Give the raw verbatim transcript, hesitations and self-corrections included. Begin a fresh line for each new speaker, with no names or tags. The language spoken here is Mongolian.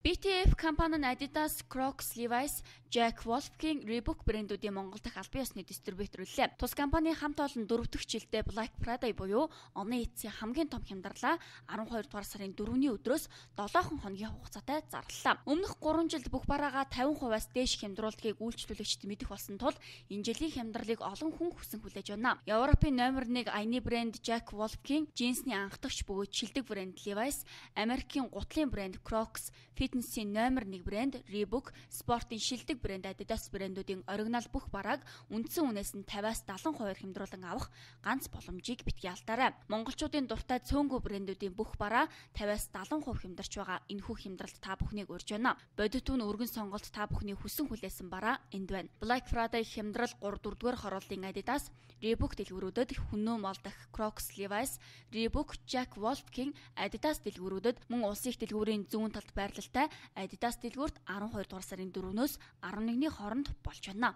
би ти эф компани нь Adidas, Crocs, Levi's, Jack Wolfskin, Reebok брэндүүдийн Монгол дахь албан ёсны дистрибьюторлээ. Тус компани хамт олон дөрөв дэх жилдээ Black Friday буюу оны эцсийн хамгийн том хямдралаа арван хоёр дугаар сарын дөрөвний өдрөөс долоохон хоногийн хугацаатай зарлалаа. Өмнөх гурван жилд бүх бараагаа тавин хувиас дээш хямдруулдгийг үйлчлүүлэгчид мэдэх болсон тул энэ жилийн хямдралыг олон хүн хүсэн хүлээж байна. Европын номер нэг аяны брэнд Jack Wolfskin, джинсний анхдагч бөгөөд шилдэг брэнд Levi's, Америкийн гутлын брэнд Crocs, фитнесийн номер нэг брэнд Reebok, спортын шилдэг брэнд Adidas брэндүүдийн оригинал бүх барааг үндсэн үнээс нь тавиас далайн хувиар хямдруулан авах ганц боломжийг битгий алдаарай. Монголчуудын дуртай цөөнгөө брэндүүдийн бүх бараа тавиас далайн хувь хямдарч байгаа энэхүү хямдралд та бүхнийг урьж байна. Бодит үн өргөн сонголт та бүхний хүсэн хүлээсэн бараа энд байна. Black Friday хямдрал гурав дөрөвдүгээр хорооллын Adidas, Reebok дэлгүүрүүдэд хүннөө мол дах Crocs, Levi's, Reebok, Jack Wolfskin, Adidas дэлгүүрүүдэд мөн улсын их дэлгүүрийн зүүн талд байрлалтай Adidas дэлгүүрт арван хоёр дугаар сарын дөрөвнөөс арван нэгний хооронд болж байна.